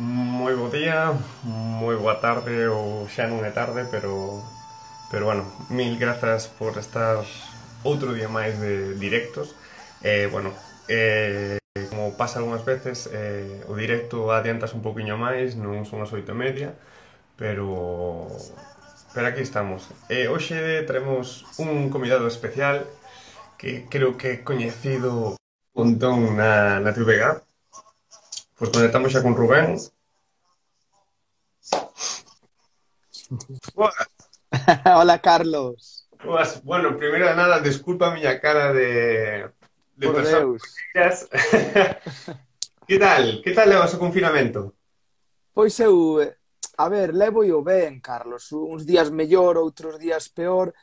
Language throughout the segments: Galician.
Moi bo día, moi boa tarde ou xa non é tarde, pero mil grazas por estar outro día máis de directos. Bueno, como pasa algunhas veces, o directo adiantas un poquinho máis, non son as 8:30, pero aquí estamos. Hoxe traemos un convidado especial que creo que é coñecido un montón na TVG. Pois conectamos xa con Rubén. Boas, Hola Carlos, boas. Bueno, primeiro de nada, desculpa a miña cara de por persona Deus. que Que tal? Que tal levas o confinamento? Pois eu, a ver, levo o ben, Carlos. Uns días mellor, outros días peor,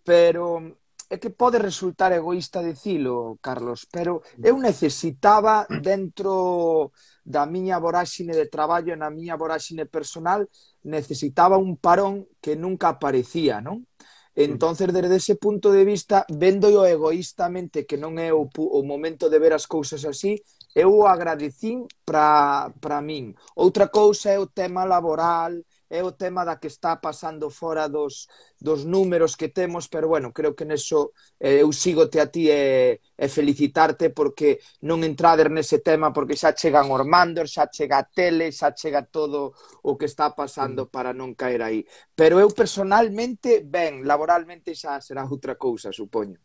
pero é que pode resultar egoísta dicilo, Carlos, pero eu necesitaba dentro da miña voráxine de traballo e na miña voráxine personal, necesitaba un parón que nunca aparecía, non? Entonces, desde ese punto de vista, vendo yo egoístamente que non é o momento de ver as cousas así, eu o agradecín para min. Outra cousa é o tema laboral, é o tema da que está pasando fora dos números que temos, pero bueno, creo que neso eu sígote a ti e felicitarte porque non entrader nese tema porque xa chegan os mandos, xa chega a tele, xa chega todo o que está pasando para non caer aí. Pero eu personalmente, ben, laboralmente xa será outra cousa, supoño.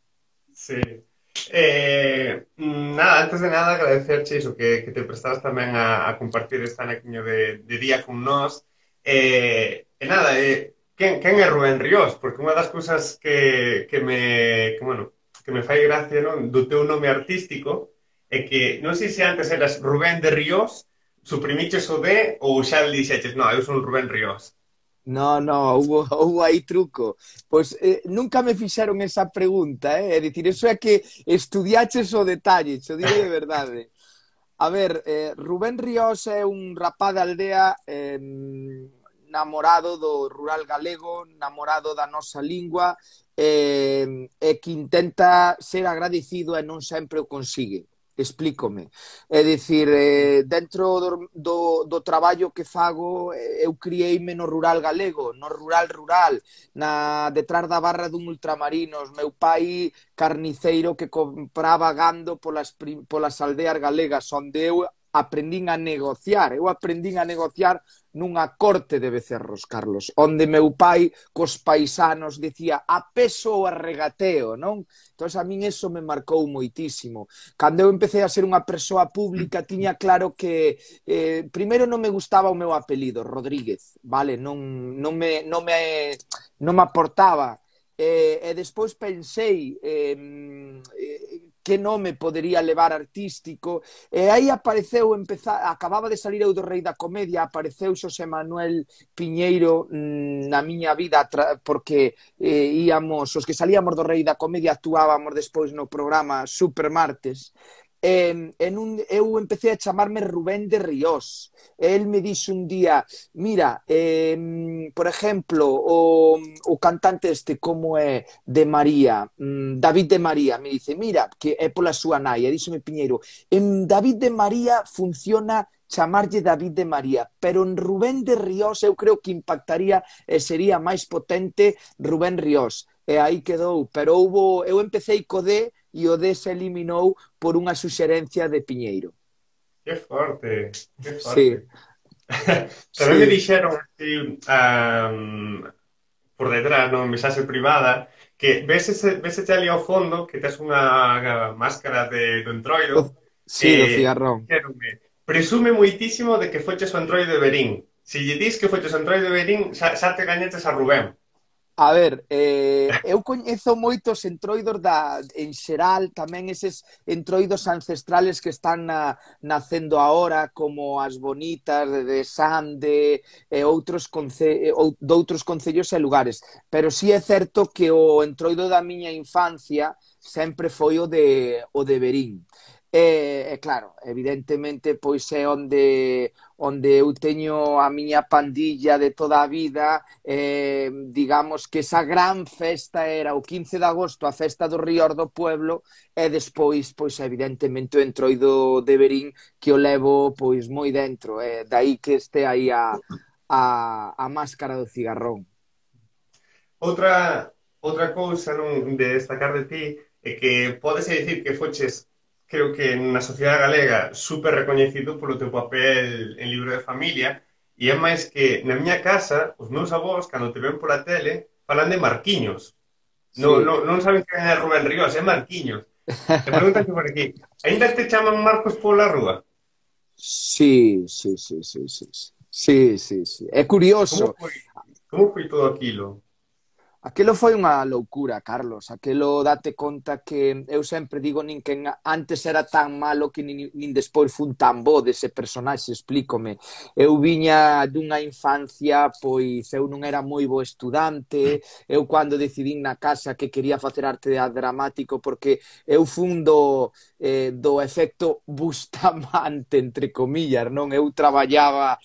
Sí. Nada, antes de nada agradecerche iso que te prestabas tamén a compartir este anaquiño de día con nós. Nada, quen é Rubén Ríos? Porque unha das cousas que me fai gracia, non, do teu nome artístico é que non sei se antes eras Rubén de Ríos, suprimiches o D ou xa dixeches, no, eu son Rubén Ríos. No, no, hubo aí truco. Pois nunca me fixeron esa pregunta, eh? É dicir, eso é que estudiaches o detalle, xo digo de verdade. A ver, Rubén Ríos é un rapaz de aldea namorado do rural galego, namorado da nosa lingua e que intenta ser agradecido e non sempre o consigue. Explícome. É dicir, dentro do traballo que fago, eu criei-me no rural galego, no rural, detrás da barra dun ultramarinos. Meu pai carniceiro que compraba gando polas aldeas galegas, onde eu aprendín a negociar. Eu aprendín a negociar nunha corte de becerros, Carlos, onde meu pai cos paisanos dicía a peso ou a regateo, non? Entón, a min eso me marcou moitísimo. Cando eu empecé a ser unha persoa pública, tiña claro que primeiro non me gustaba o meu apelido, Rodríguez, vale? Non me aportaba. E despois pensei que nome podería levar artístico, e aí apareceu, acababa de salir eu do Rei da Comedia, apareceu Xosé Manuel Piñeiro na miña vida, porque os que salíamos do Rei da Comedia actuábamos despois no programa Supermartes, eu empecé a chamarme Rubén de Ríos. El me dixo un día, mira, por exemplo, o cantante este, como é, de María, David de María, me dice, mira, que é pola súa nai, e díxome Piñeiro, en David de María funciona chamarlle David de María, pero en Rubén de Ríos eu creo que impactaría e sería máis potente Rubén Ríos. E aí quedou, pero eu empecé co D e o D se eliminou por unha suxerencia de Piñeiro. Que forte, que forte. Sí, Tamén me sí. dixeron así, por detrás, non, mensaxe privada, que ves ese ali ao fondo que tes unha máscara do Entroido, Sí, do cigarrón. dixéronme, presume moitísimo de que foches o Entroido de Berín. Se lle dis que foches o Entroido de Berín, xa te gañetes a Rubén. A ver, eu coñezo moitos entroidos en xeral, tamén eses entroidos ancestrales que están nacendo agora, como as bonitas de Sande e doutros concellos e lugares. Pero sí é certo que o entroido da miña infancia sempre foi o de Verín. Claro, evidentemente, pois é onde eu teño a miña pandilla de toda a vida, digamos que esa gran festa era o 15 de agosto, a festa do Ríor do Pueblo, e despois, pois evidentemente, o Entroido de Verín, que o levo pois moi dentro, dai que este aí a máscara do cigarrón. Outra cousa non de destacar de ti é que pódese dicir que foches, creo que na sociedade galega, super recoñecido polo teu papel en Libro de Familia, e é máis que na miña casa, os meus avós, cando te ven pola tele, falan de Marquiños. Sí. Non saben quen é Rubén Ríos, é Marquiños. E preguntan por aquí, aínda te chaman Marcos pola rúa? Sí, sí, sí, sí, sí, sí. Sí, sí, sí. É Como curioso. foi, como foi todo aquilo? Aquilo foi unha loucura, Carlos. Aquilo date conta que eu sempre digo nin que antes era tan malo que nin despois fun tan bo dese personaxe, explícome. Eu viña dunha infancia, pois eu non era moi bo estudante, eu cando decidín na casa que quería facer arte dramático porque eu fun do efecto Bustamante, entre comillas, non? Eu traballaba,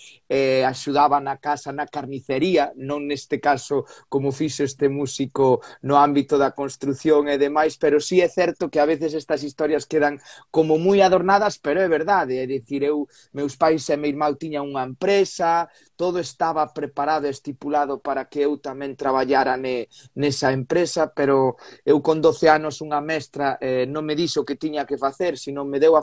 axudaba na casa na carnicería, non neste caso como fixo este músico no ámbito da construción e demais, pero sí é certo que a veces estas historias quedan como moi adornadas, pero é verdade, é dicir, meus pais e meu irmão tiñan unha empresa, todo estaba preparado e estipulado para que eu tamén traballara nesa empresa, pero eu con 12 anos unha mestra non me dixo o que tiña que facer, sino me deu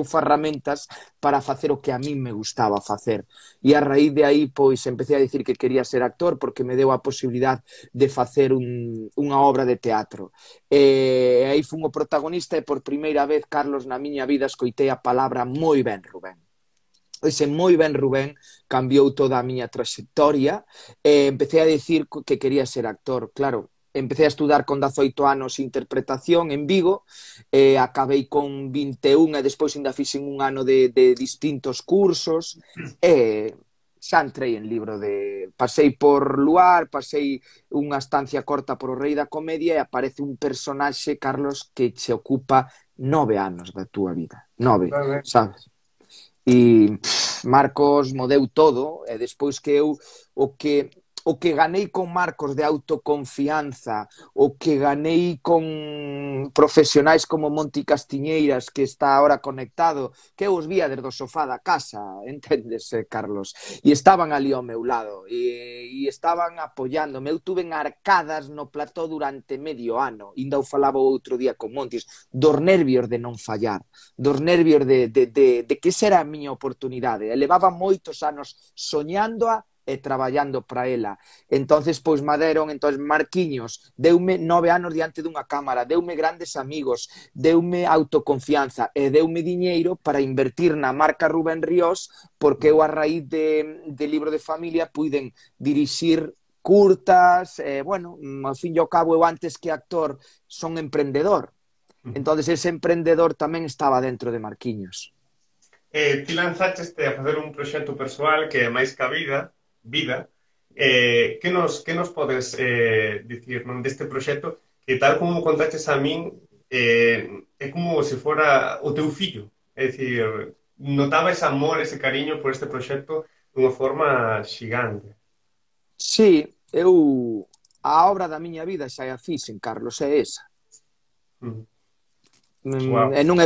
ferramentas para facer o que a min me gustaba facer. E a raíz de aí, pois, empecé a dicir que quería ser actor porque me deu a posibilidad de facer unha obra de teatro. E aí fun o protagonista e por primeira vez, Carlos, na miña vida escoitei a palabra moi ben, Rubén. Ese moi ben Rubén cambiou toda a miña trayectoria e empecé a dicir que quería ser actor. Claro, empecé a estudar con 18 anos interpretación en Vigo, acabei con 21 e despois ainda fixen un ano de distintos cursos e xa entrei en libro de... Pasei por Luar, pasei unha estancia corta por o Rei da Comedia e aparece un personaxe, Carlos, que che ocupa 9 anos da túa vida. 9, sabes? E Marcos mo deu todo e despois que eu o que ganei con Marcos de autoconfianza, o que ganei con profesionais como Monti Castiñeiras, que está ahora conectado, que eu os vía desde o sofá da casa, entendes, Carlos? E estaban ali ao meu lado, e estaban apoiándome. Eu tuve arcadas no plató durante medio ano, ainda o falaba outro día con Montis, dos nervios de non fallar, dos nervios de que esa era a miña oportunidade. E levaba moitos anos soñándoa e traballando para ela. Entonces, pois maderon, entonces Marquiños deume 9 anos diante dunha cámara, deume grandes amigos, deume autoconfianza e deume diñeiro para invertir na marca Rubén Ríos, porque eu a raíz de Libro de Familia puiden dirixir curtas, bueno, ao fin e ao cabo eu antes que actor son emprendedor. Entonces ese emprendedor tamén estaba dentro de Marquiños. Ti lanzaste a facer un proxecto persoal que é máis que a vida, que nos podes dicir deste proxecto que tal como contaches a min é como se fora o teu fillo, é dicir, notaba ese amor, ese cariño por este proxecto dunha forma xigante. Sí, a obra da miña vida xa a fixen, Carlos, é esa. Wow. E non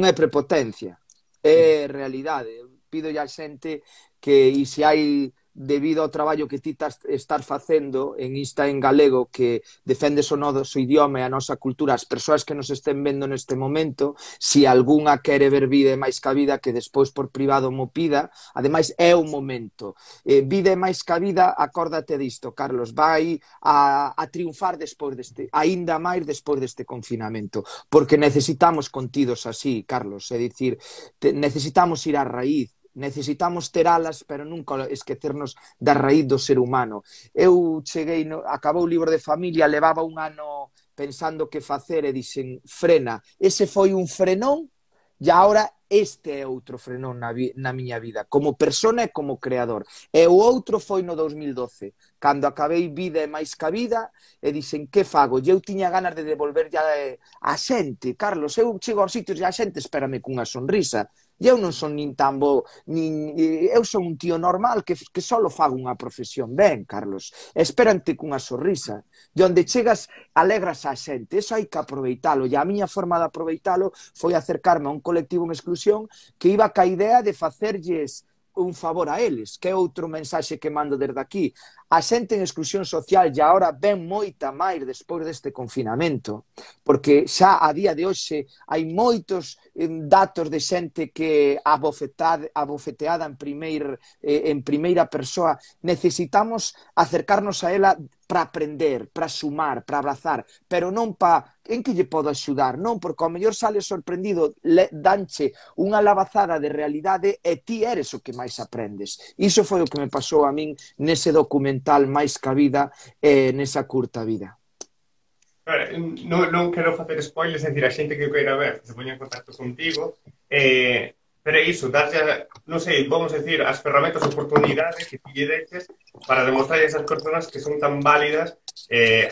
é prepotencia, é realidade. Pido a xente que, e se hai debido ao traballo que ti estás facendo en Insta en galego, que defendes o noso idioma e a nosa cultura, as persoas que nos estén vendo neste momento, se algunha quere ver Vida é máis que a vida, que despois por privado mo pida, ademais é o momento. Vida é máis que a vida, acórdate disto, Carlos, vai a triunfar despois deste, aínda máis despois deste confinamento, porque necesitamos contidos así, Carlos, é dicir, necesitamos ir á raíz, necesitamos ter alas, pero nunca esquecernos da raíz do ser humano. Eu cheguei, acabou o Libro de Familia, levaba un ano pensando que facer e dixen, frena. Ese foi un frenón e agora este é outro frenón na miña vida, como persona e como creador. E o outro foi no 2012, cando acabei Vida e máis ca vida, e dixen, que fago? E eu tiña ganas de devolver a xente, Carlos, eu chego aos sitios e a xente espérame cunha sonrisa. E eu non son nin tan bo, eu son un tío normal que só fago unha profesión ben, Carlos. Espérante cunha sonrisa. E onde chegas, alegras a xente. Eso hai que aproveitalo. E a miña forma de aproveitalo foi acercarme a un colectivo en exclusión que iba ca idea de facerlles un favor a eles, que é outro mensaxe que mando desde aquí. A xente en exclusión social e agora ven moita máis despois deste confinamento, porque xa a día de hoxe hai moitos datos de xente que abofeteada en primeira persoa. Necesitamos acercarnos a ela para aprender, para sumar, para abrazar, pero non para en que lle podo axudar, non, porque ao mellor sale sorprendido, danche unha lavazada de realidade e ti eres o que máis aprendes. Iso foi o que me pasou a min nese documental Máis ca vida, nesa curta vida. Non quero facer spoilers, é dicir, a xente que o queira ver, que se poña en contacto contigo, pero é iso, darlle, non sei, vamos a decir, as ferramentas, oportunidades que ti lle deches para demostrar a esas persoas que son tan válidas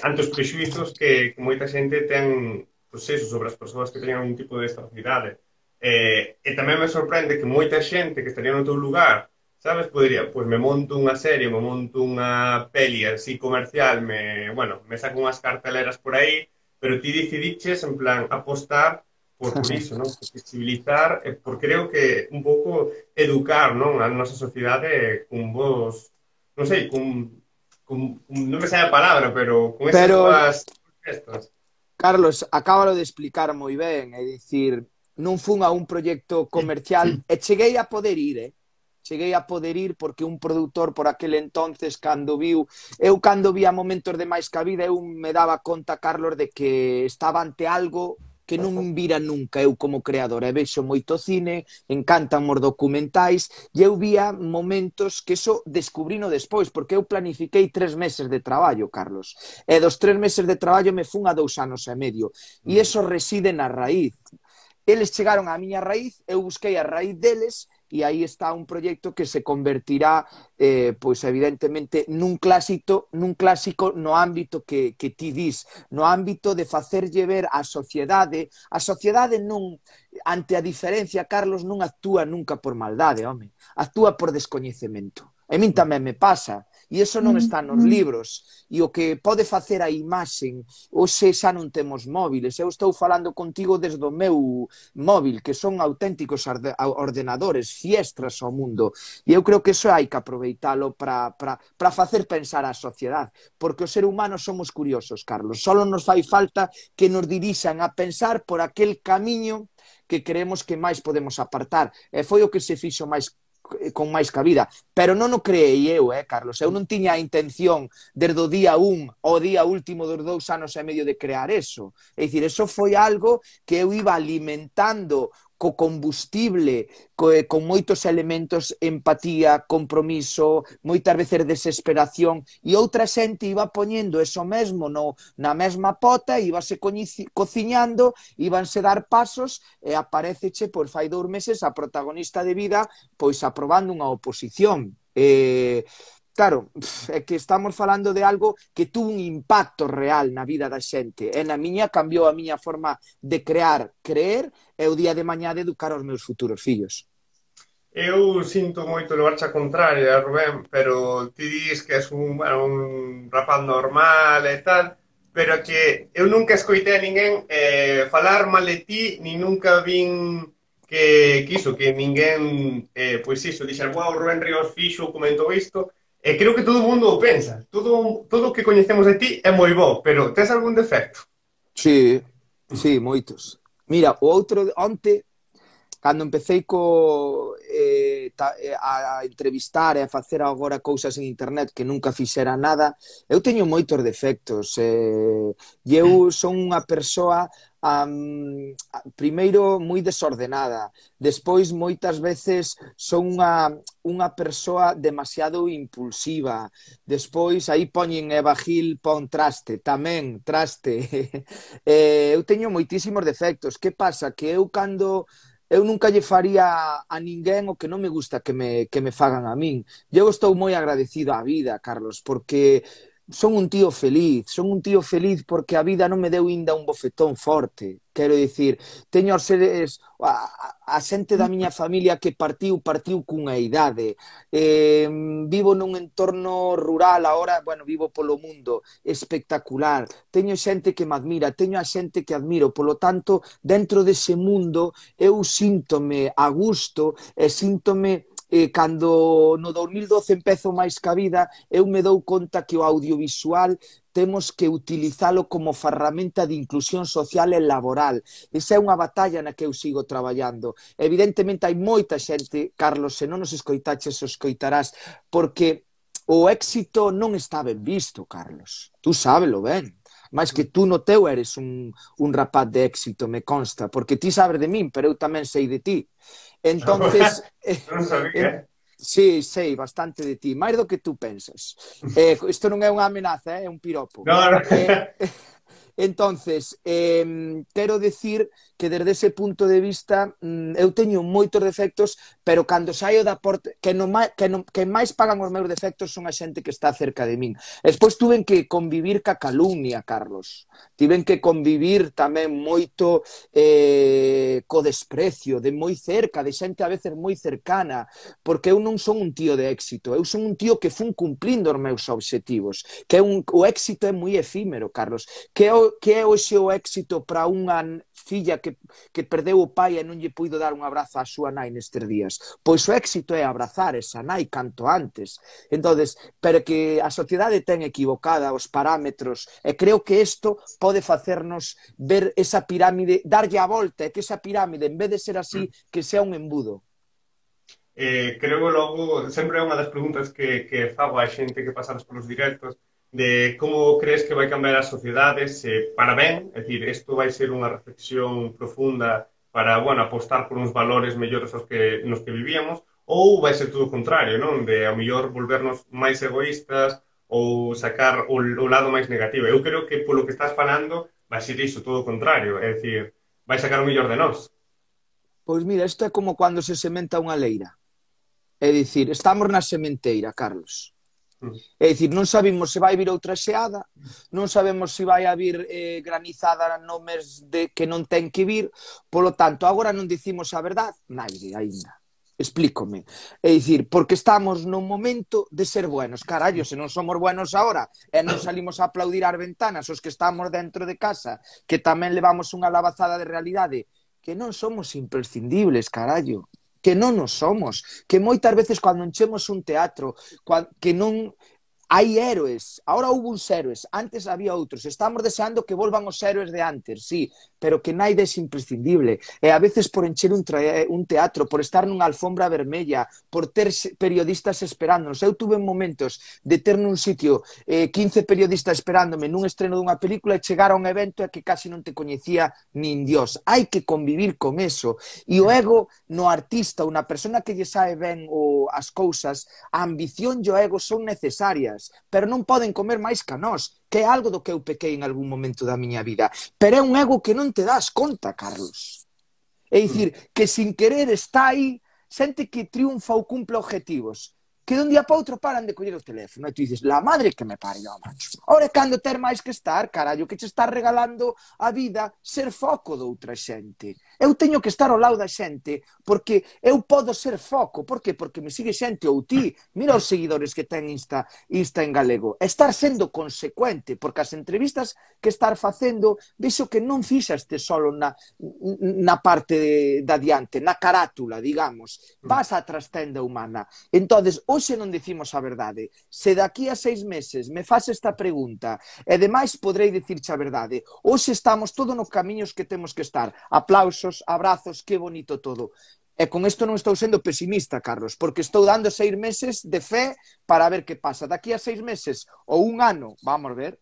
ante os prexuizos que moita xente ten, pois eso, sobre as persoas que teñen algún tipo de discapacidade. E tamén me sorprende que moita xente que estaría no teu lugar, sabes, podería, pois me monto unha serie, me monto unha peli así comercial, me saco unhas carteleras por aí, pero ti decidiches, en plan, apostar por iso, non? Por visibilizar, por creo que un pouco educar, non? A nosa sociedade con vos, non sei, non me sai a palabra, pero con esas dúas gestas. Carlos, acábalo de explicar moi ben, é dicir, non fun a un proxecto comercial e cheguei a poder ir, cheguei a poder ir porque un produtor por aquel entonces cando vi a momentos de Máis ca vida, eu me daba conta, Carlos, de que estaba ante algo que non vira nunca eu como creador. E vexo moito cine, encantan os documentais, e eu vía momentos que eso descubrino despois, porque eu planifiquei 3 meses de traballo, Carlos. E dos 3 meses de traballo me fun a 2 anos e medio. E eso reside na raíz. Eles chegaron á miña raíz, eu busquei a raíz deles, e aí está un proxecto que se convertirá, pois evidentemente, nun clásico no ámbito que ti dis, no ámbito de facerlle ver á sociedade. A sociedade non, ante a diferencia, Carlos, non actúa nunca por maldade, home, actúa por descoñecemento. A min tamén me pasa, e iso non está nos libros, e o que pode facer a imaxen, hoxe xa non temos móviles, eu estou falando contigo desde o meu móvil, que son auténticos ordenadores, fiestras ao mundo, e eu creo que iso hai que aproveitalo para facer pensar a sociedade, porque o ser humano somos curiosos, Carlos, só nos fai falta que nos dirixan a pensar por aquel camiño que creemos que máis podemos apartar, e foi o que se fixo con Máis ca vida, pero non o creei eu, Carlos, eu non tiña a intención desde o día 1 ao día último dos 2 anos e medio de crear eso, é dicir, eso foi algo que eu iba alimentando co combustible, con moitos elementos, empatía, compromiso, moitas veces desesperación, e outra xente iba poñendo eso mesmo na mesma pota, íbase cociñando, íbanse dar pasos, e apareceche, pois fai 2 meses, a protagonista de Vida, pois aprobando unha oposición. Claro, é que estamos falando de algo que tuvo un impacto real na vida da xente, e na miña cambiou a miña forma de creer, e o día de mañá de educar os meus futuros fillos. Eu sinto moito levarche a contraria, Rubén, pero ti dis que és un rapaz normal e tal, pero que eu nunca escoitei a ninguén falar mal de ti, ni nunca vin que ninguén, pois iso, dixer, wow, Rubén Ríos fixo, comentou isto. Creo que todo o mundo o pensa. Todo o que coñecemos de ti é moi bo, pero tes algún defecto? Sí, moitos. Mira, o outro onte, cando empecéi a entrevistar e a facer agora cousas en internet que nunca fixera nada, eu teño moitos defectos. E eu son unha persoa primeiro moi desordenada, despois moitas veces son unha persoa demasiado impulsiva, despois aí poñen Eva Gil, pon traste, tamén traste. Eu teño moitísimos defectos. Que pasa? Que eu cando eu nunca lle faría a ninguén o que non me gusta que me fagan a min. Eu estou moi agradecido á vida, Carlos, porque son un tío feliz porque a vida non me deu inda un bofetón forte. Quero dicir, teño os seres, a xente da miña familia que partiu cunha idade. Vivo nun entorno rural, agora, bueno, vivo polo mundo, espectacular. Teño xente que me admira, teño a xente que admiro, polo tanto, dentro dese mundo, eu síntome a gusto e síntome cando no 2012 empezo máis ca vida, eu me dou conta que o audiovisual temos que utilizalo como ferramenta de inclusión social e laboral. Esa é unha batalla na que eu sigo traballando. Evidentemente hai moita xente, Carlos, se non nos escoitaches, o escoitarás, porque o éxito non está ben visto, Carlos. Tú sábelo ben. Mais que tú no teu eres un rapaz de éxito, me consta, porque ti sabes de min, pero eu tamén sei de ti. Entonces, Non sabía. sí, sei bastante de ti, máis do que tú pensas. Isto non é unha amenaza, é un piropo. No, no. Entonces, quero decir que desde ese punto de vista eu teño moitos defectos, pero cando saio da porta que máis pagan os meus defectos son a xente que está cerca de min. Despois tuven que convivir ca calumnia, Carlos. Tiven que convivir tamén moito co desprecio, de moi cerca, de xente a veces moi cercana, porque eu non son un tío de éxito, eu son un tío que fun cumplindo os meus obxectivos, o éxito é moi efímero, Carlos. Que é hoxe o éxito para unha filla que perdeu o pai e non lle puido dar un abrazo á súa nai nestes días? Pois o éxito é abrazar esa nai canto antes. Entonces, pero que a sociedade ten equivocada os parámetros e creo que isto pode facernos ver esa pirámide, darlle a volta e que esa pirámide, en vez de ser así, que sea un embudo. Creo que logo, sempre é unha das preguntas que fago a xente que pasamos polos directos, de como crees que vai cambiar a sociedade, se para ben, é dicir, isto vai ser unha reflexión profunda para, bueno, apostar por uns valores mellores nos que vivíamos, ou vai ser todo o contrario, non? De, a mellor, volvernos máis egoístas ou sacar o lado máis negativo. Eu creo que polo que estás falando vai ser iso, todo o contrario, é dicir, vai sacar o mellor de nós. Pois mira, isto é como cando se sementa unha leira. É dicir, estamos na sementeira, Carlos. É dicir, non sabemos se vai vir outra xeada, non sabemos se vai vir granizada no mes de que non ten que vir, polo tanto, agora non dicimos a verdade, naide, aínda. Explícome. É dicir, porque estamos nun momento de ser buenos. Carallo, se non somos buenos agora e non salimos a aplaudir as ventanas os que estamos dentro de casa, que tamén levamos unha lavazada de realidade, que non somos imprescindibles, carallo. Que non nos somos, que moitas veces cando enchemos un teatro, que non hai héroes, ahora houve uns héroes, antes había outros, estamos deseando que volvan os héroes de antes, sí, pero que naide é imprescindible, e a veces por encher un teatro, por estar nunha alfombra vermella, por ter periodistas esperándonos. Eu tuve momentos de ter nun sitio 15 periodistas esperándome nun estreno dunha película e chegar a un evento e que casi non te coñecía nin Dios. Hai que convivir con eso, e o ego no artista, unha persona que lle sabe ben as cousas, a ambición e o ego son necesarias, pero non poden comer máis que nós, que é algo do que eu pequei en algún momento da miña vida. Pero é un ego que non te das conta, Carlos. É dicir, que sin querer está aí, xente que triunfa ou cumple objetivos, que de un día para outro paran de coller o teléfono e tú dices, la madre que me parió, macho. Ora é cando ter máis que estar, carallo, que che está regalando a vida ser foco de outra xente. Eu teño que estar ao lado da xente porque eu podo ser foco. Por que? Porque me sigue xente ou ti. Mira os seguidores que ten Insta en galego. Estar sendo consecuente, porque as entrevistas que estar facendo, vexo que non fixaste solo na parte de adiante, na carátula, digamos. Vas á trastenda humana. Entonces, hoxe non dicimos a verdade. Se daqui a 6 meses me faz esta pregunta e demais podrei dicirche a verdade. Hoxe estamos todo nos camiños que temos que estar. Aplausos, abrazos, que bonito todo. E con isto non estou sendo pesimista, Carlos, porque estou dando 6 meses de fe para ver que pasa. Daqui a 6 meses ou un ano, vamos ver.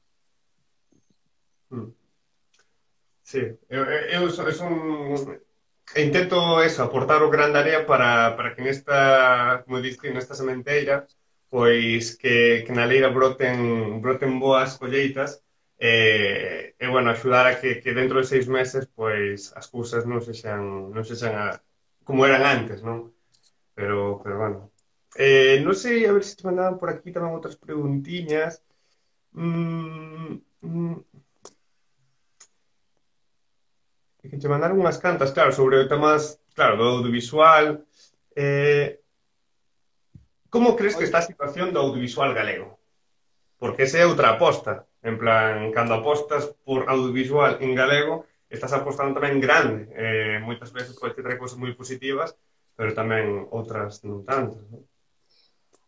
Sí, eu son... intento eso, aportar o gran de area para que nesta, como diste, nesta sementeira, pois que na leira broten boas colleitas bueno, axudar a que dentro de 6 meses pois as cousas non sexan como eran antes, non? Pero bueno. Non sei, a ver se te mandaban por aquí tamén outras preguntiñas. Mm, mm, que te mandaron unhas cantas, claro, sobre temas, claro, do audiovisual. Eh, como crees que está a situación do audiovisual galego? Porque esa é outra aposta. En plan, cando apostas por audiovisual en galego, estás apostando tamén grande. Moitas veces pode ter cousas moi positivas, pero tamén outras non tanto, non?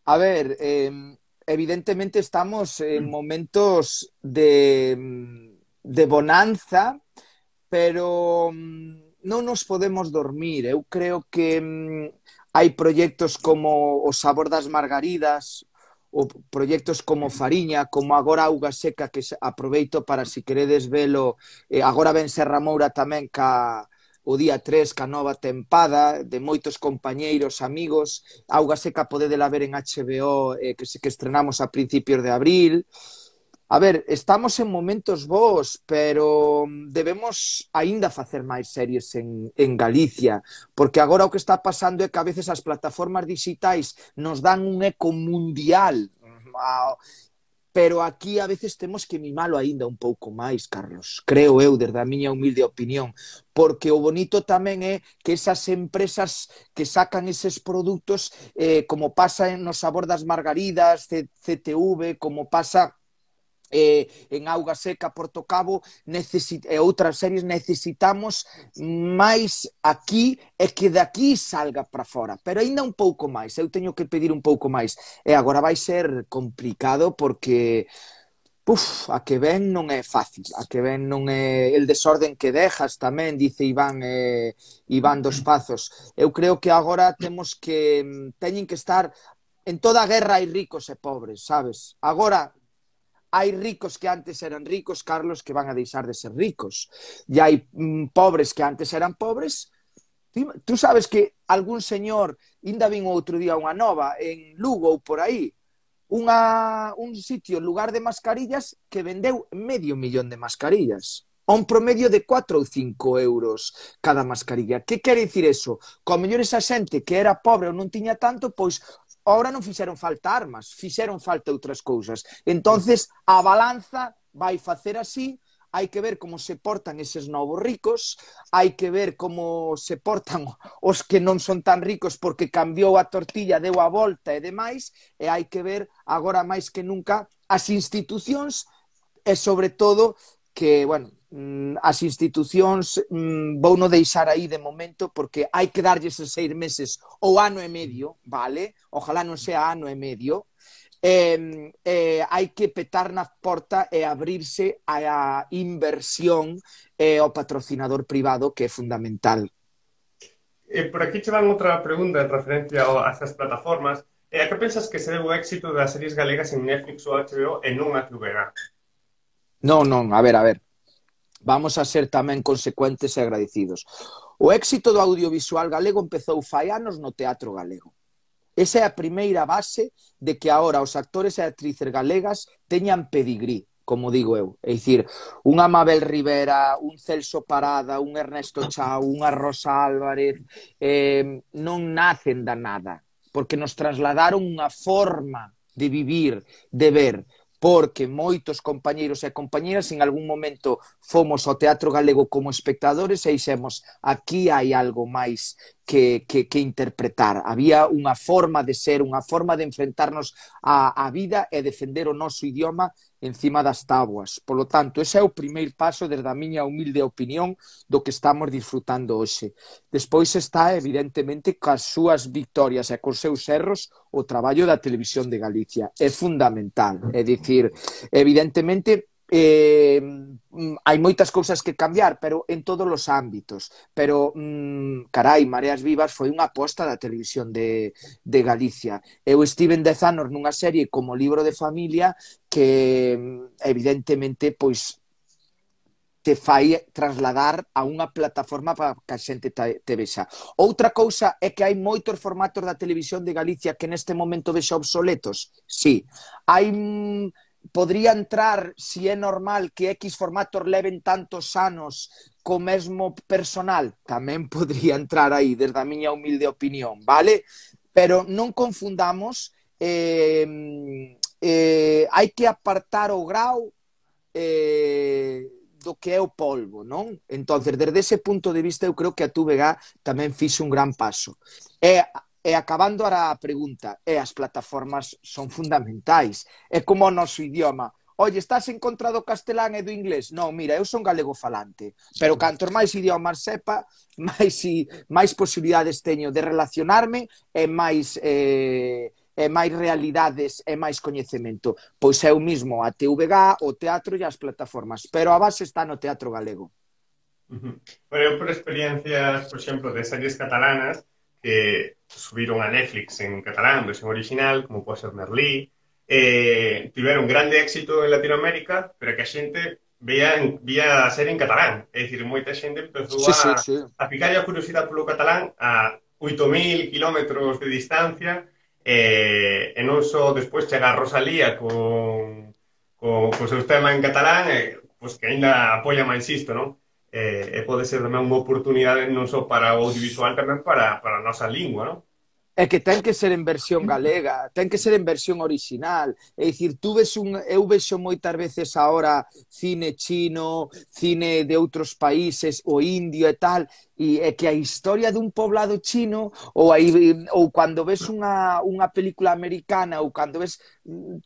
A ver, evidentemente estamos en momentos de bonanza, pero non nos podemos dormir. Eu creo que hai proxectos como o Sabor das Margaridas, ou proxectos como Fariña, como agora Auga Seca, que aproveito para, se queredes velo, agora ven Serra Moura tamén o día 3 ca nova tempada de moitos compañeiros, amigos. Auga Seca podedela ver en HBO, que estrenamos a principios de abril. A ver, estamos en momentos bons, pero debemos aínda facer máis series en Galicia, porque agora o que está pasando é que a veces as plataformas digitais nos dan un eco mundial, pero aquí a veces temos que mimalo aínda un pouco máis, Carlos, creo eu, desde a miña humilde opinión, porque o bonito tamén é que esas empresas que sacan eses produtos, como pasa no Sabor das Margaridas, CTV, como pasa en Auga Seca, Porto Cabo e outras series, necesitamos máis aquí e que daqui salga para fora, pero aínda un pouco máis, eu teño que pedir un pouco máis, e agora vai ser complicado porque a que ven non é fácil, a que ven non é el desorden que dejas tamén, dice Iván dos Pazos. Eu creo que agora teñen que estar en toda guerra hai ricos e pobres, sabes? Agora hai ricos que antes eran ricos, Carlos, que van a deixar de ser ricos. E hai pobres que antes eran pobres. Tú sabes que algún señor, ainda vin outro día unha nova, en Lugo ou por aí, un sitio, lugar de mascarillas, que vendeu 500.000 de mascarillas. A un promedio de 4 ou 5 euros cada mascarilla. Que quere dicir eso? Co mellor esa xente que era pobre ou non tiña tanto, pois ahora non fixeron falta armas, fixeron falta outras cousas. Entonces, a balanza vai facer así, hai que ver como se portan eses novos ricos, hai que ver como se portan os que non son tan ricos porque cambiou a tortilla, deu a volta e demais, e hai que ver agora máis que nunca as institucións e sobre todo que, bueno, as institucións vou non deixar aí de momento porque hai que darlles 6 meses ou ano e medio, vale? Ojalá non sea ano e medio. Hai que petar na porta e abrirse a inversión e ao patrocinador privado, que é fundamental. Por aquí che van outra pregunta en referencia a estas plataformas. A que pensas que se debe o éxito das series galegas en Netflix ou HBO e non a TVG? Non, a ver. Vamos a ser tamén consecuentes e agradecidos. O éxito do audiovisual galego empezou fai anos no teatro galego. Esa é a primeira base de que agora os actores e actrices galegas teñan pedigrí, como digo eu. É dicir, unha Mabel Rivera, un Celso Parada, un Ernesto Chao, unha Rosa Álvarez, non nacen da nada, porque nos trasladaron unha forma de vivir, de ver, porque moitos compañeiros e compañeras en algún momento fomos ao teatro galego como espectadores e dixemos, aquí hai algo máis que interpretar. Había unha forma de ser, unha forma de enfrentarnos á vida e defender o noso idioma encima das táboas. Por lo tanto, ese é o primeiro paso desde a miña humilde opinión do que estamos disfrutando hoxe. Despois está, evidentemente, cas súas victorias e cos seus erros, o traballo da Televisión de Galicia. É fundamental. É dicir, evidentemente, hai moitas cousas que cambiar, pero en todos os ámbitos. Pero, carai, Mareas Vivas foi unha aposta da Televisión de Galicia. Eu estive en 10 anos nunha serie como Libro de Familia que, evidentemente, pois te fai trasladar a unha plataforma para que a xente te vexa. Outra cousa é que hai moitos formatos da Televisión de Galicia que neste momento vexa obsoletos. Sí. Hai podría entrar, si é normal que X formatos leven tantos anos co mesmo personal, tamén podría entrar aí, desde a miña humilde opinión, vale? Pero non confundamos, hai que apartar o grau do que é o polvo, non? Entonces, desde ese punto de vista, eu creo que a TVG tamén fixe un gran paso. E acabando a pregunta, as plataformas son fundamentais. É como o noso idioma. Oye, estás en contra do castelán e do inglés? Non, mira, eu son galego falante, pero cantos máis idiomas sepa, máis posibilidades teño de relacionarme e máis realidades e máis coñecemento. Pois é o mismo a TVG, o teatro e as plataformas, pero a base está no teatro galego. Bueno, eu por experiencias, por exemplo, de series catalanas que subiron a Netflix en catalán, versión original, como pode ser Merlí, tiveron grande éxito en Latinoamérica, pero que a xente vía a serie en catalán. É dicir, moita xente empezou Sí, sí, sí. a picar a curiosidade polo catalán a 8.000 kilómetros de distancia, e non só despois chegar a Rosalía con seus temas en catalán, pues que ainda apoia máis isto, non? E pode ser tamén unha oportunidade non só para o audiovisual, tamén para a nosa lingua, non? É que ten que ser en versión galega, ten que ser en versión original. É dicir, eu vexo moitas veces ahora cine chino, cine de outros países, o indio e tal, e é que a historia dun poblado chino ou cando ves unha película americana ou cando ves...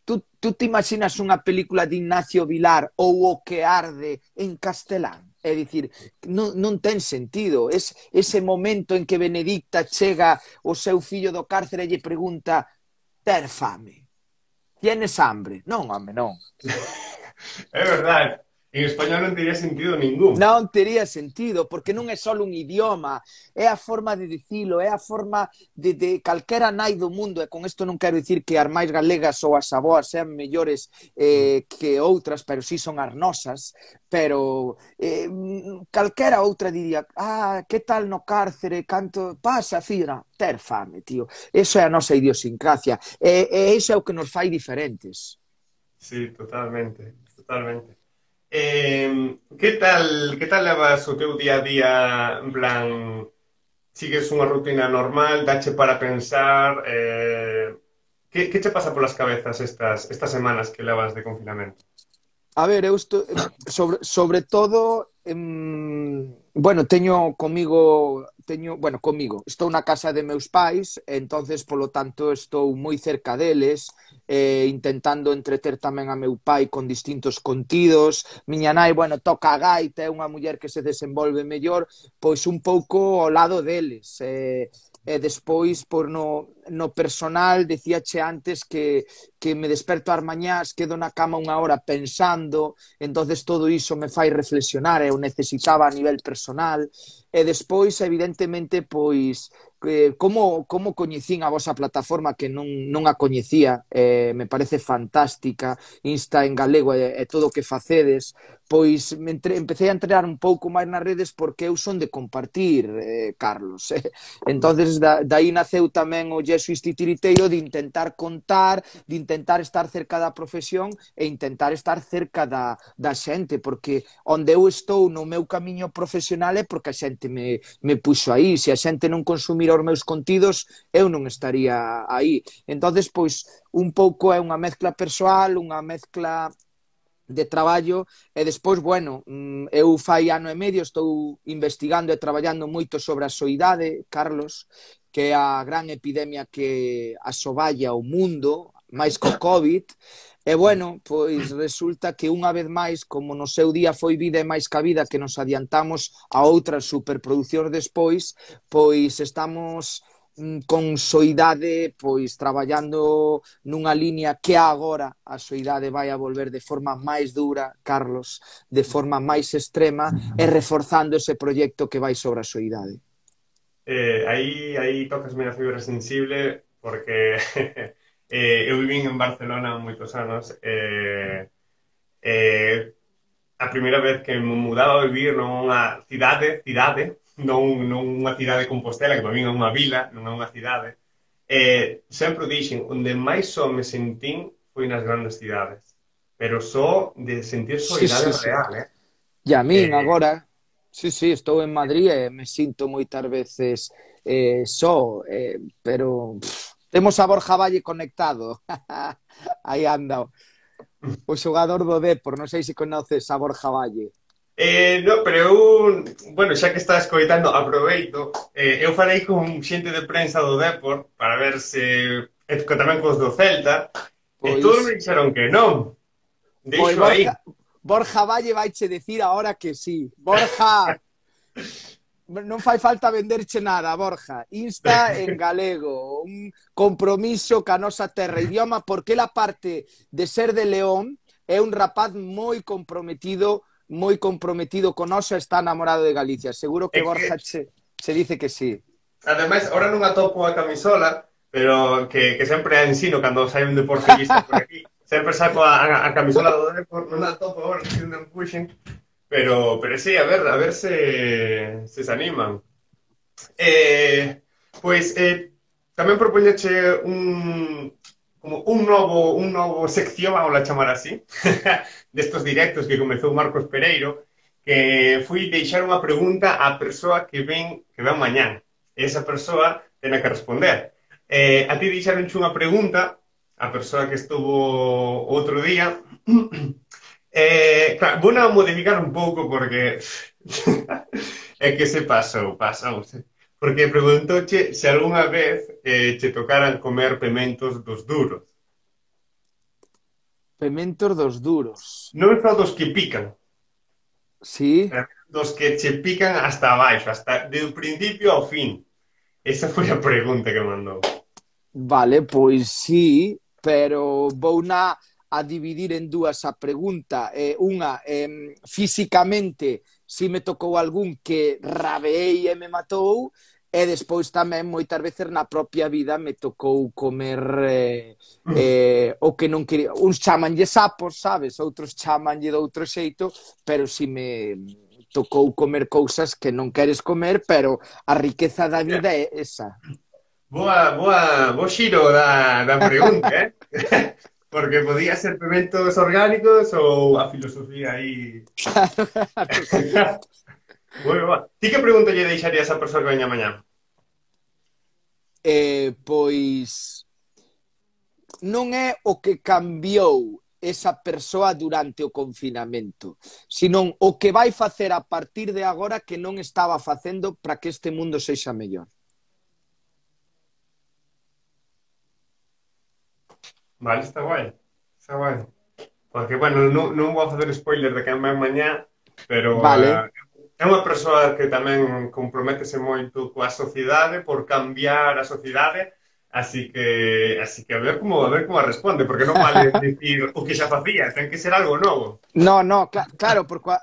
Tú te imaginas unha película de Ignacio Vilar ou O que arde en castelán? É dicir, non ten sentido. Ese momento en que Benedicta chega o seu fillo do cárcere e lle pregunta: ter fame? Tienes hambre? Non, home, non. É verdade. En español non teria sentido ningún. Non tería sentido, porque non é só un idioma, é a forma de dicilo, é a forma de calquera nai do mundo, e con isto non quero dicir que as máis galegas ou as aboas sean mellores que outras, pero sí son as nosas, pero calquera outra diría, que tal no cárcere, canto pasa, fira, ter fame, tío. Eso é a nosa idiosincrasia, e iso é o que nos fai diferentes. Sí, totalmente, totalmente. Que tal levas o teu día a día, en plan, sigues unha rutina normal, dache para pensar, que che pasa polas cabezas estas semanas que levas de confinamento? A ver, eu estou, sobre todo, bueno, estou na casa de meus pais, entonces, polo tanto, estou moi cerca deles, intentando entreter tamén a meu pai con distintos contidos. Miña nai, bueno, toca a gaita, é unha muller que se desenvolve mellor, pois un pouco ao lado deles. E despois, por no personal, dicíache antes que me desperto ás mañás, quedo na cama unha hora pensando, entonces todo iso me fai reflexionar, eu necesitaba a nivel personal, e despois, evidentemente, pois, como coñecín a vosa plataforma, que non a coñecía, me parece fantástica, Insta en galego e todo o que facedes, pois empecé a entrenar un pouco máis nas redes porque eu son de compartir, Carlos. Entonces, dai naceu tamén o Jesuís Titiriteiro de intentar contar, de intentar estar cerca da profesión e intentar estar cerca da xente, porque onde eu estou no meu camiño profesional é porque a xente me puxo aí. Se a xente non consumira os meus contidos, eu non estaría aí. Entonces, pois, un pouco é unha mezcla persoal, unha mezcla de traballo, e despois, bueno, eu fai ano e medio estou investigando e traballando moito sobre a soidade, Carlos, que é a gran epidemia que asoballa o mundo, máis co COVID, e bueno, pois resulta que unha vez máis, como no seu día foi Vida e máis ca vida, que nos adiantamos a outras superproduccións despois, pois estamos con soidade, pois traballando nunha liña que agora a soidade vai a volver de forma máis dura, Carlos, de forma máis extrema, e reforzando ese proxecto que vai sobre a soidade. Aí tocasme a fibra sensible porque eu vivín en Barcelona moitos anos, a primeira vez que me mudaba a vivir nunha cidade, non unha cidade de Compostela, que para min é unha vila, non é unha cidade. Sempre o dixen, onde máis só me sentín foi nas grandes cidades. pero só de sentir Sí, soidade sí, sí. real, eh? E a min Eh, agora, sí, sí, estou en Madrid e me sinto moitas veces só, pero temos a Borja Valle conectado. Aí anda o xogador do Depor, non sei se conoces a Borja Valle. no, pero eu, bueno, xa que estás coitando, aproveito. Eu falei con xente de prensa do Depor para ver se, tamén cos do Celta, e todos me Pois, dixeron que non. pois Deixo aí. Borja Valle vaiche decir ahora que sí. Borja, non fai falta venderche nada, Borja. Insta en galego, un compromiso ca nosa terra e idioma, porque la parte de ser de León é un rapaz moi comprometido con nosa, está enamorado de Galicia. Seguro É que que, Borja se dice que sí. ademais, ahora non atopo a camisola, pero que sempre a ensino cando sai un deportivista por aquí. Sempre saco a camisola do Depor, non a atopo agora, que non puxen. Pero sí, a ver se animan. Pois tamén propoñeche como un novo sección, vamos a chamar así, destos directos que comezou Marcos Pereiro, que fui deixar unha pregunta á persoa que ven mañán. E esa persoa ten que responder. A ti deixaronche unha pregunta a persoa que estuvo outro día. Claro, vou a modificar un pouco porque é que se pasou. Porque preguntouche se algunha vez che tocaran comer pementos dos duros. Pementos dos duros. Non só dos que pican, Sí? dos que che pican hasta abaixo, hasta do principio ao fin. Esa foi a pregunta que mandou. Vale, pois sí, pero vou a dividir en dúas a pregunta. Unha, físicamente, si me tocou algún que rabeei e me matou, e despois tamén moitas veces na propia vida me tocou comer o que non quería. Uns chamanlle sapos, sabes? Outros chamanlle de outro xeito, pero si me tocou comer cousas que non queres comer, pero a riqueza da vida é esa. Bo xiro da pregunta, eh? Porque podía ser pementos orgánicos ou a filosofía aí. Bueno, va. Ti que pregunta lle deixarías a persoa que veña mañá? Pois non é o que cambiou esa persoa durante o confinamento, senón o que vai facer a partir de agora que non estaba facendo para que este mundo sexa mellor. Vale, está guai. Está guai. Porque, bueno, non vou a facer spoiler de quen ven mañá, pero Vale, é unha persoa que tamén comprométese moito coa sociedade por cambiar a sociedade, así que a ver como responde, porque non vale dicir o que xa facía, ten que ser algo novo. no, no, claro, porque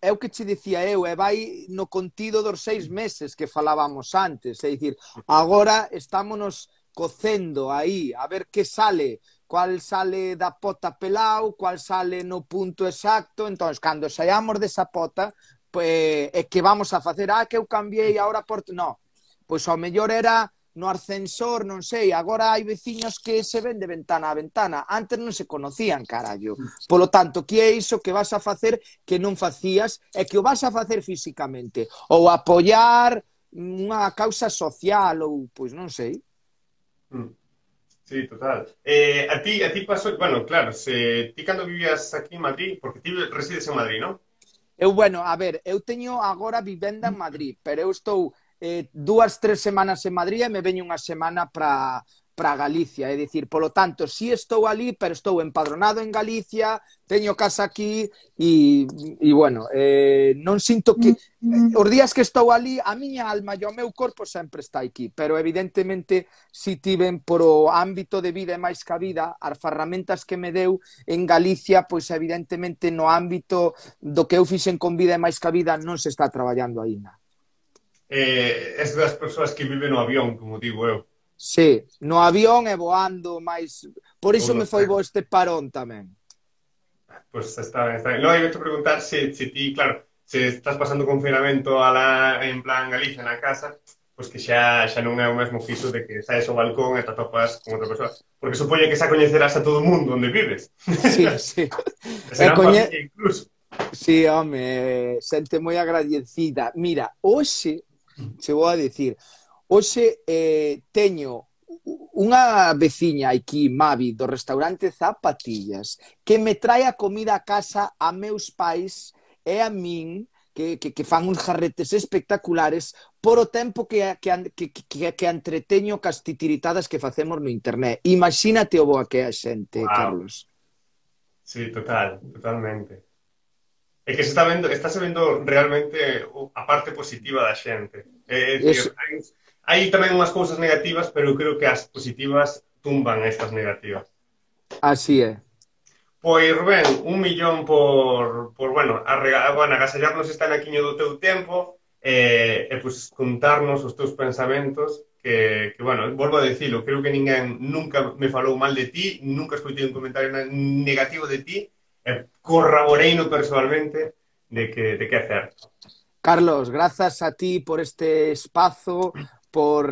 é o que che dicía eu, e vai no contido dos 6 meses que falábamos antes, é dicir, agora estámonos cocendo aí, a ver que sale, cual sale da pota pelao, cual sale no punto exacto, entón, cando saíamos desa pota, pues, é que vamos a facer, que eu cambiei agora por... No, pois ao mellor era no ascensor, non sei, agora hai veciños que se ven de ventana a ventana, antes non se conocían, carallo. Polo tanto, que é iso que vas a facer que non facías e que o vas a facer físicamente? Ou apoiar unha causa social ou, pois non sei. Mm. Sí, total. A ti pasó, bueno, claro, ti cando vivías aquí en Madrid, porque ti resides en Madrid, ¿no? Bueno, a ver, eu teño agora vivenda en Madrid, pero eu estou 2, 3 semanas en Madrid e me veño unha semana para Galicia, é dicir, polo tanto, si estou ali, pero estou empadronado en Galicia, teño casa aquí e bueno, non sinto que os días que estou ali, a miña alma e o meu corpo sempre está aquí, pero evidentemente si tiven por o ámbito de vida e máis que a vida, as ferramentas que me deu en Galicia, pois evidentemente no ámbito do que eu fixen con vida e máis que a vida non se está traballando aínda. Es das persoas que viven no avión, como digo eu. Sí, no avión e voando máis... Por Ou iso no me foi tren. bo este parón tamén. Pues está ben, está ben. No, iba a preguntar se ti, claro, se estás pasando confinamento en plan Galicia na casa, pois que xa non é o mesmo que iso de que saes ao balcón e te atopas con outra persoa. Porque supoño que xa coñecerás a todo o mundo onde vives. Sí, sí. E E serán familia incluso. Sí, home, xente moi agradecida. Mira, hoxe, che vou a dicir, hoxe teño unha veciña aquí, Mavi, do restaurante Zapatillas, que me trae a comida a casa a meus pais e a min, que fan uns jarretes espectaculares por o tempo que entreteño cas titiritadas que facemos no internet. Imagínate o boa que é a xente, Wow. Carlos. Sí, totalmente. É que está se vendo realmente a parte positiva da xente. É dicir, Es, hai tamén unhas cousas negativas, pero eu creo que as positivas tumban estas negativas. así é. Pois, Rubén, 1 millón bueno, bueno, agasallarnos este anaquiño do teu tempo pois contarnos os teus pensamentos bueno, volvo a dicilo, creo que ninguén nunca me falou mal de ti, nunca escoitei un comentario negativo de ti, corroboreino personalmente de que é certo. Carlos, grazas a ti por este espazo, por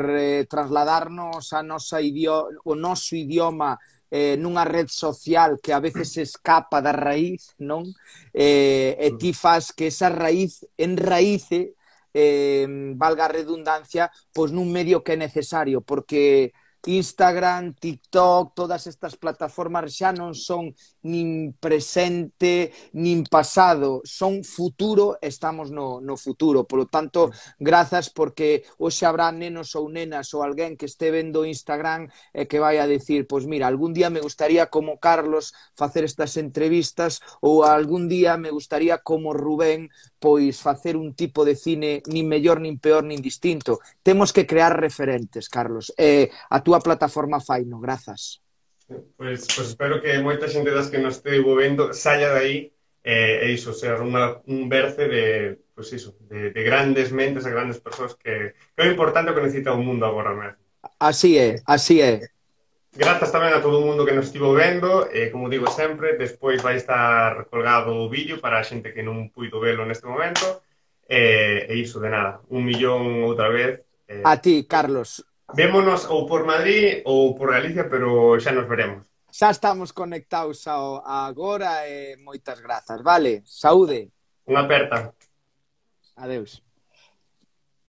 trasladarnos o noso idioma nunha red social que a veces escapa da raíz, non? E ti fas que esa raíz enraíce, valga a redundancia, pois nun medio que é necesario, porque Instagram, TikTok, todas estas plataformas xa non son nin presente, nin pasado, son futuro, estamos no futuro. Por lo tanto, grazas porque hoxe habrá nenos ou nenas ou alguén que este vendo Instagram e que vai a decir, pois mira, algún día me gustaría como Carlos facer estas entrevistas ou algún día me gustaría como Rubén pois facer un tipo de cine nin mellor, nin peor, nin distinto. Temos que crear referentes, Carlos. A túa plataforma faino, grazas. Pois espero que moita xente das que nos estivo vendo saia de aí e iso, ser un berce pois iso, de grandes mentes e grandes persoas que é o importante o que necesita o mundo agora mesmo. Así é, así é. Grazas tamén a todo o mundo que nos estivo vendo e, como digo sempre, despois vai estar colgado o vídeo para a xente que non puido velo neste momento e iso, de nada, 1 millón outra vez. A ti, Carlos. Vémonos ou por Madrid ou por Galicia, pero xa nos veremos. Xa estamos conectados agora e moitas grazas, vale? Saúde. Unha aperta. Adeus.